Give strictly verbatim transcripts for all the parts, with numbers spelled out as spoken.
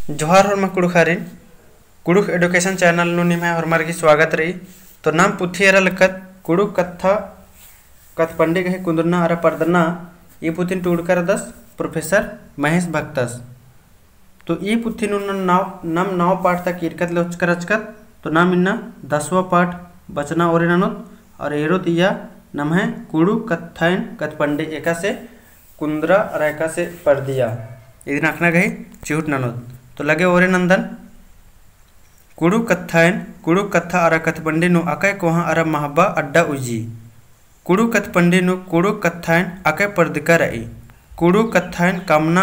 जोहार होरमा कुँड़ुख़ारिन, कुँड़ुख़ education channel नू निम्है होरमर गही स्वागत रई। तो नाम पुथी एरा लक्कत कुँड़ुख़ कत्था कत्थपंडी गही कुन्दरना अरा परदना, ई पुथिन टूड़का रअदस Professor महेश भक्तस। तो ई पुथी नू नम नौ, नम नौ पाठ तक ईरकत ले ओचकर रहचकत, तो नाम इन्ना दसवाँ पाठ बचना ओरे ननोत, और एरोत इया नम्है कुँड़ुख़ कत्थाइन कत्थपंडी एकासे कुन्दरा अरा एकासे परदिया। इदिन अख़ना गही चिहुट ननोत। तो लगे ओरे नन्दन। कुँड़ुख़ कत्थाइन, कुँड़ुख़ कत्था अरा कत्थपंडी नू अकय कोहाँ अरा महबा अड्डा उइजी। कुँड़ुख़ कत्थपंडी नू कुँड़ुख़ कत्थाइन अकय परदका रई। कुँड़ुख़ कत्थाइन कमना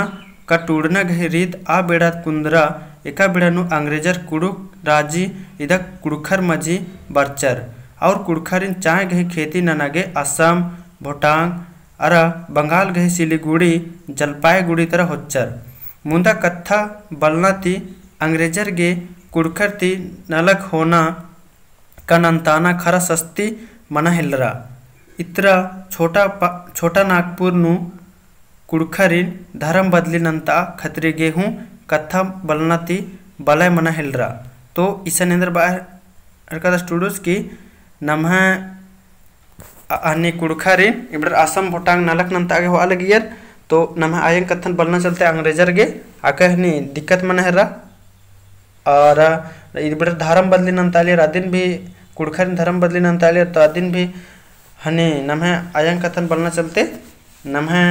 का टूड़ना गही रीत आ बेड़ा कुन्दरा, एका बेड़ा नू अंग्रेजर कुँड़ुख़ राजी इदा कुँड़ुख़र मझी बरचर, और कुँड़ुख़रिन चाय गही खेती नना गे असम, भोटांग, अरा बंगाल गही सिलीगुड़ी, जलपाईगुड़ी तरा होच्चर। मुन्दा कत्था बलना ती अंग्रेजर गे कुँड़ुख़र ती नलख होना का नन्ताना खरा सस्ती मना हेलरा। इतरा छोटा पा-, छोटा नागपुर नू कुँड़ुख़रिन धरम बदली नन्ता खतरी गे हूँ कत्था बलना ती बलय मना हेलरा। तो इसन एन्देर बआ एरकत students की नम्है अ-, हनी कुँड़ुख़ारिन इबड़र असम भोटांग नलख नन्ता गे होआ लगियर, तो नम्है आयंग कत्थन बलना चलते अंग्रेजर गे अकय हनी दिक्कत मना हेलरा। और इबड़र धरम बदली नन्तालियर, अदिन भी कुँड़ुख़ारिन धरम बदली नन्तालियर, तो अदिन भी हनी नम्है आयंग कत्थन बलना चलते नम्है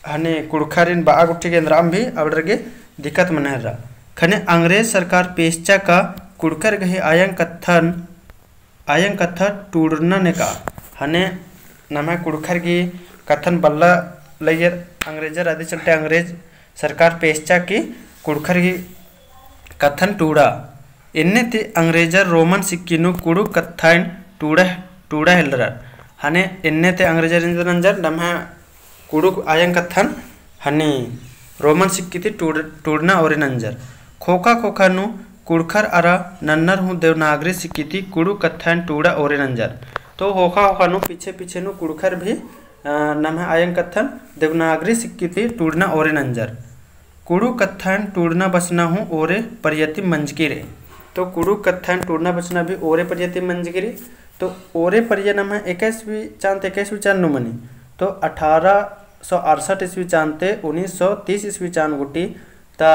हनी कुँड़ुख़ारिन बआ गुट्ठी गे एन्दराम भी अबड़र गे दिक्कत मना हेलरा। ख़ने अंग्रेज सरकार पेसचा का कुँड़ुख़र गही आयंग कत्थन आयंग कत्था टूड़ना नेका। हने नम्है कुँड़ुख़र गही कत्थन बल्ला लगियर अंग्रेजर, अदी चलते अंग्रेज सरकार पेसचा की कुँड़ुख़र गही कत्थन टूड़ा। एन्ने ती अंग्रेजर रोमन सिक्की नू कुँड़ुख़ कत्थाइन टूड़ा, टूड़ा हेलरर। हने एन्ने ती अंग्रेजर एन्देर नंजर नम्है कुँड़ुख़ आयंग कत्थन हनी रोमन सिक्की ती टूड़-, टूड़ना ओरे नंजर। ख़ोख़ा ख़ोख़ा नू कुँड़ुख़र अरा नन्नर हूँ देवनागरी सिक्की ती कुँड़ुख़ कत्थाइन टूड़ा ओरे नंजर। तो ख़ोख़ा ख़ोख़ा नू पीछे पीछे नू कुँड़ुख़र भी, अ, नम्है आयंग कत्थन देवनागरी सिक्की ती टूड़ना ओरे नंजर। कुँड़ुख़ कत्थाइन टूड़ना बचना हूँ ओरे परिया ती मंजकी रई। तो कुँड़ुख़ कत्थाइन टूड़ना बचना भी ओरे परिया ती मंजकी रई। तो ओरे परिया नम्है इक्कीसवीं चान ती इक्कीसवीं चान नू मनी। तो अठारह सौ अड़सठ ईस्वी चान ती उन्नीस सौ तीस ईस्वी चान गुट्ठी ता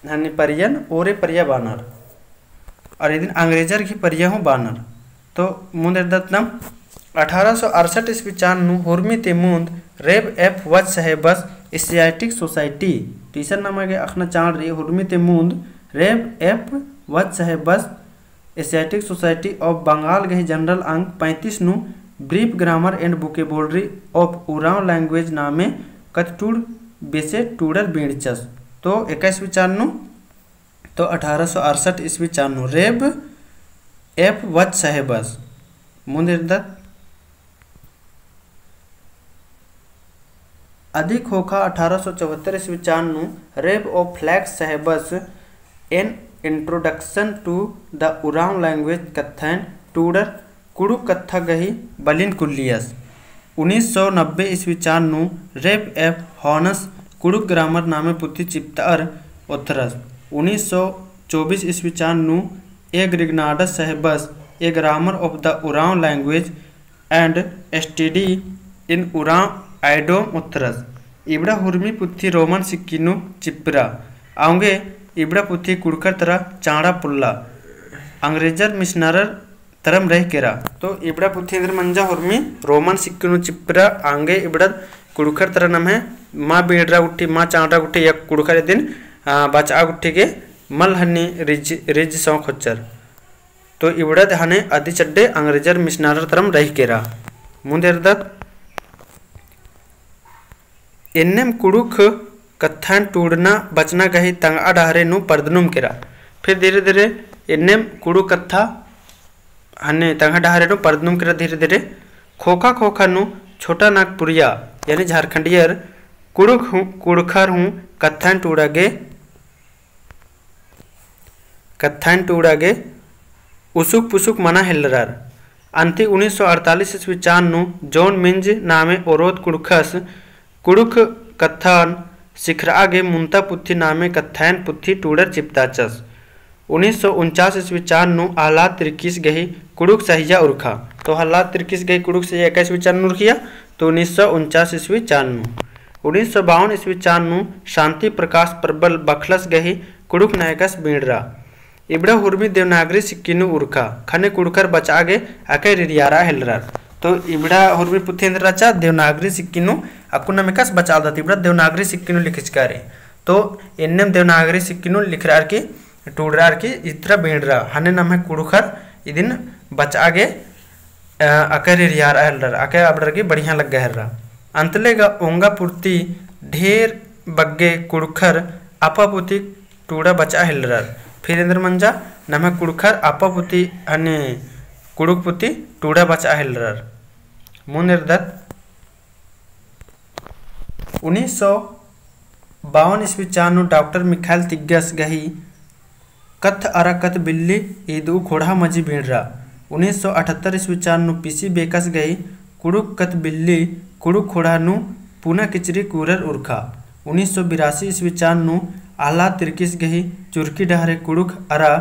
हनी परियन ओरे परिया बानर। अरा इदिन अंग्रेजर गही परिया हूँ बानर। तो मुन्द एरदत नम अठारह सौ अड़सठ ईस्वी चान नू हुर्मी ती मुन्द रेब एफ वच साहेबस एशियाटिक सोसाइटी, टीसन नमा गे अख़ना चाड़ रई, हुर्मी ती मुन्द रेब एफ वच साहेबस Asiatic Society of Bengal गही general अंक पैंतीस नू Brief Grammar and Vocabulary of Oraon Language नामे कत्थटूड़ बेसे टूड़र बीड़चस। तो इक्कीसवीं चान नू, तो अठारह सौ अड़सठ ईस्वी चान नू रेब एफ वच साहेबस मुन्द एरदत। अदी ख़ोख़ा अठारह सौ चौहत्तर ईस्वी चान नू रेब ओफ फ्लैक्स साहेबस An Introduction to the Oraon Language कत्थन टूड़र कुँड़ुख़ कत्था गही बलिन कुल्लियस। उन्नीस सौ नब्बे ईस्वी चान नू रेब एफ हॉनस कुँड़ुख़ ग्रामर नामे पुथी चिप्तअर ओथरस। उन्नीस सौ चौबीस ईस्वी चान नू ए ग्रिगनाडस साहेबस A Grammar of the Oraon Language and Study in Oraon Idiom ओथरस। इबड़ा हुर्मी पुथी रोमन सिक्की नू चिप्रा। औंगे इबड़ा पुथी कुँड़ुख़र तरा चाँड़ा पोल्ला। अंग्रेजर मिशनरर तरम रहि केरा। तो इबड़ा पुथी एन्देर मंजा हुर्मी रोमन सिक्की नू चिप्रा, औंगे इबड़ा कुँड़ुख़र तरा नम्है मा बीड़रा गुट्ठी, मा चाँड़रा गुट्ठी, या कुँड़ुख़र इदिन, आ, बचआ गुट्ठी गे मल हनी रिज, रिज सौंख होच्चर। तो इबड़द हने अदी चड्डे अंग्रेजर मिशनरर तरम रहि केरा। मुन्द एरदत एन्नेम कुँड़ुख़ कत्थन टूड़ना बचना गही तंगआ डहरे नू परदनुम केरा। फिर धीरे धीरे एन्नेम कुँड़ुख़ कत्था हने तंगआ डहरे नू परदनुम केरा धीरे धीरे। ख़ोख़ा ख़ोख़ा नू छोटा नागपुरिया यानी झारखंडियर कुँड़ुख़ हूँ, कुँड़ुख़र हूँ कत्थन टूड़ा गे कत्थन टूड़ा गे उसुक पुसुक मना हेलरर। अन्ती उन्नीस सौ अड़तालीस ईस्वी चान नू जॉन मिंज नामे ओरोत कुँड़ुख़स कुँड़ुख़ कत्थन सिखरआ गे मुन्ता पुथी नामे कत्थायन पुथी टूड़र चिपताचस। उन्नीस सौ उनचास ईस्वी चान नू आह्लाद तिर्कीस गही कुँड़ुख़ सहिया उरखा। तो आह्लाद तिर्कीस गही कुँड़ुख़ सहिया एका ईस्वी चान नू उरखिया, तो उन्नीस सौ उनचास ईस्वी चान नू। उन्नीस सौ बावन ईस्वी चान नू शांति प्रकाश प्रबल बखलस गही कुँड़ुख़ नायकस बींड़रा। इबड़ा हुर्मी देवनागरी सिक्की नू उरखा, ख़ने कुँड़ुख़र बचआ गे अकय रिरियारआ हेलरर। तो इबड़ा हुर्मी पुथी एन्देर रहचा देवनागरी सिक्की नू, अक्कुन नाम एकासे बचआलदत, इबड़ा देवनागरी सिक्की नू लिखचका रई। तो एन्नेम देवनागरी सिक्की नू लिखरअर की, टूड़रअर की, इतरा बींड़रा, ख़ने नम्है कुँड़ुख़र इदिन बचआ गे अ, अकय रिरियारआ हेलरर, अकय अबड़र गे बढ़िया लग्गा हेलरा। अंतले गा ओंगा पुरती ढेर बग्गे कुँड़ुख़र आपा पुती टूड़ा बचआ हेलरर। फिर एन्देर मंजा, नम्है कुँड़ुख़र आपा पुती ख़ने कुँड़ुख़ पुती टूड़ा बचआ हेलरर। मुन्द एरदत। उन्नीस सौ बावन ईस्वी चान नू डॉक्टर मिखाइल तिग्गस गही कत्थ अरा कत्थ बिल्ली ईदऊ खोड़हा मझी बींड़रा। उन्नीस सौ अठहत्तर ईस्वी चान नू पीसी बेकस गही कुँड़ुख़ कत्थ बिल्ली कुँड़ुख़ खोड़हा नू पुना किचरी कुरर उरखा। उन्नीस सौ बिरासी ईस्वी चान नू आह्लाद तिर्कीस गही चुरकी डहरे कुँड़ुख़ अरा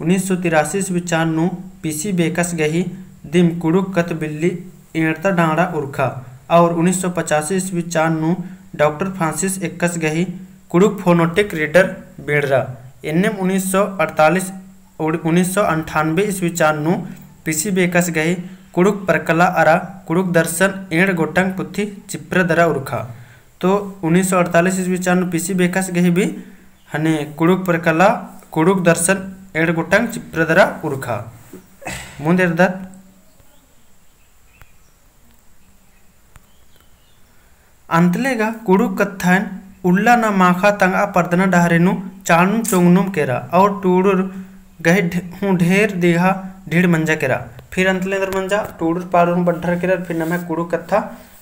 उन्नीस सौ तिरासी ईस्वी चान नू पीसी बेकस गही दिम कुँड़ुख़ कत्थ बिल्ली एंड़ता डांड़ा उरखा। और उन्नीस सौ पचासी ईस्वी चान नू डॉक्टर फ्रांसिस एक्कस गही कुँड़ुख़ phonetic reader बींड़रा। एन्नेम उन्नीस सौ अड़तालीस, उड़-, उन्नीस सौ अंठानबे ईस्वी चान नू पीसी बेकस गही कुँड़ुख़ परकला अरा कुँड़ुख़ दर्शन एंड़ गोटंग पुथी चिप्रा दरा उरखा। तो उन्नीस सौ अड़तालीस ईस्वी चान नू पीसी बेकस गही भी ख़ने कुँड़ुख़ परकला, कुँड़ुख़ दर्शन एंड़ गोटंग चिप्रा दरा उरखा। मुन्द एरदत। अंतले गा कुँड़ुख़ कत्थायन उल्ला ना माखा तंगआ परदना डहरे नू चाड़नुम चोंगनुम केरा और टूड़ुर गही ढे-, हूँ ढेर दिगहा ढीड़ मंजा केरा। फिर अंतले एन्देर मंजा, टूड़ुर पाड़ुर हूँ बढ़र केरर, फिर नम्है कुँड़ुख़ कत्था,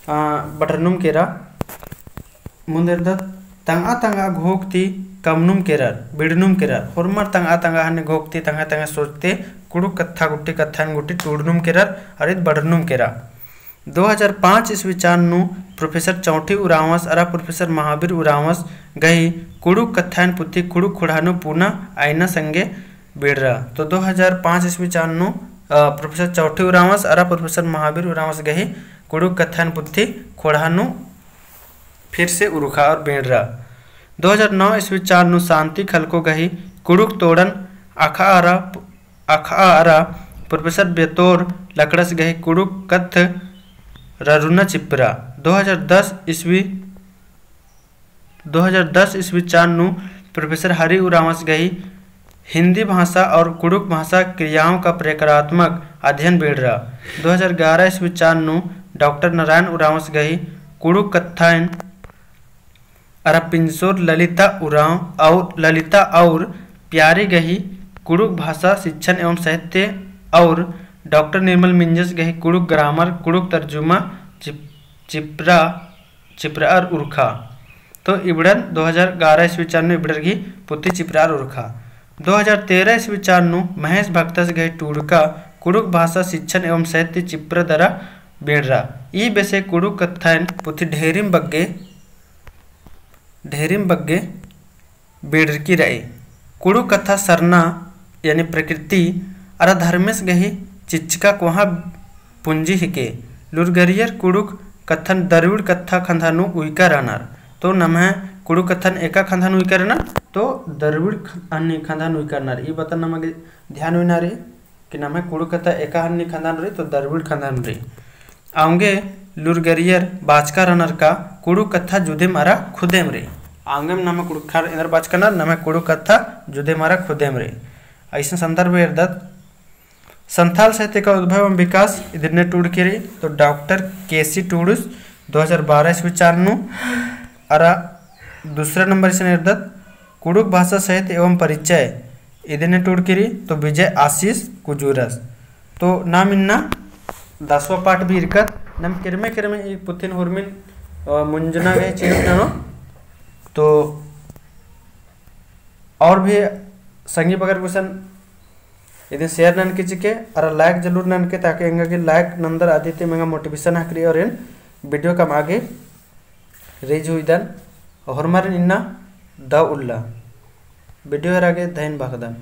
आ, बढ़रनुम केरा। मुन्द एरदत। तंगआ तंगआ घोख ती कमनुम केरर, बिड़नुम केरर। होरमर तंगआ तंगआ ख़ने घोख ती तंगआ तंगआ सोचते कुँड़ुख़ कत्था गुट्ठी कत्थायन गुट्ठी टूड़नुम केरर, अरा ईद बढ़रनुम केरा। दो हजार पाँच ईस्वी चान नू प्रोफेसर चौठी उराँवस अरा प्रोफेसर महावीर उराँवस गही कुँड़ुख़ कत्थायन पुथी कुँड़ुख़ खोड़हा नू पुना अइना संगे बींड़रा। तो दो हजार पाँच ईस्वी चान नू, अ, प्रोफेसर चौठी उराँवस अरा प्रोफेसर महावीर उराँवस गही कुँड़ुख़ कत्थायन पुथी खोड़हा नू फिर से उरखा और बींड़रा। दो हजार नौ ईस्वी चान नू शांति खलको गही कुँड़ुख़ तोड़न अख़ा अरा, अख़ा अरा प्रोफेसर बेतोर लकड़स गही कुँड़ुख़ कत्थ ररुना चिप्रा। दो हजार दस ईस्वी, दो हजार दस ईस्वी चान नू प्रोफेसर हरि उराँवस गही हिंदी भाषा और कुँड़ुख़ भाषा क्रियाओं का प्रकारात्मक अध्ययन बींड़रा। दो हजार ग्यारह ईस्वी चान नू डॉक्टर नारायण उराँवस गही कुँड़ुख़ कत्थायन अरा पिंजसोर ललिता उराँव और ललिता और प्यारी गही कुँड़ुख़ भाषा शिक्षण एवं साहित्य और डॉक्टर निर्मल मिंजस गही कुँड़ुख़ grammar, कुँड़ुख़ तर्जुमा चिप-, चिप्रा चिप्रा अरा उरखा। तो इबड़न दो हजार ग्यारह ईस्वी चान नू इबड़र गही पुथी चिप्रा अरा उरखा। दो हजार तेरह ईस्वी चान नू महेश भक्तस गही टूड़का कुँड़ुख़ भाषा शिक्षण एवं साहित्य चिप्रा दरा बींड़रा। ई बेसे कुँड़ुख़ कत्थायन पुथी ढेरिम बग्गे, ढेरिम बग्गे बींड़रकी रई। कुँड़ुख़ कत्था सरना यानी प्रकृति अरा धर्मेस गही चिच्चका कोहाँ पुंजी हिके। लूरगरियर कुँड़ुख़ कत्थन दरविड़ कत्था खंधा नू उइका रअनर। तो नम्है कुँड़ुख़ कत्थन एका खंधा नू उइका रअनर, तो दरविड़ ख-, अन्नी खंधा नू उइका रअनर। ई बतन नमा गे ध्यान उइना रई। कि नम्है कुँड़ुख़ कत्था एका हन्नी खंधा नू रई, तो दरविड़ खंधा नू रई। औंगे लूरगरियर बाचका रअनर का कुँड़ुख़ कत्था जुदेम अरा खुदेम रई। औंगेम नम्है कुँड़ुख़र एन्देर बाचका रअनर, नम्है कुँड़ुख़ कत्था जुदेम अरा खुदेम रई। अइसन संदर्भ एरदत। संथाल साहित्य का उद्भव एवं विकास इदिन टूड़की रई, तो डॉक्टर के सी टूड़ुस दो हजार बारह ईस्वी चान नू अरा दूसरा नंबर इसन एरदत कुँड़ुख़ भाषा साहित्य एवं परिचय इदिन टूड़की रई, तो विजय आशीष कुजूरस। तो नाम इन्ना दसवाँ पाठ भी इरकत, नाम किरमे किरमे ई पुथिन हुरमिन, अ, मुंजना गे चीज ननो। तो और भी संगी बगर गुसन इदिन share ननके चिके, अरा like जरूर ननके, ताकि एंगा गे like नंदर आदि ती एंगा motivation हकरी और एन video कमआ गे reach हुइदन। होरमारिन इन्ना दव उल्ला। Video एरा गे धइन बअदन।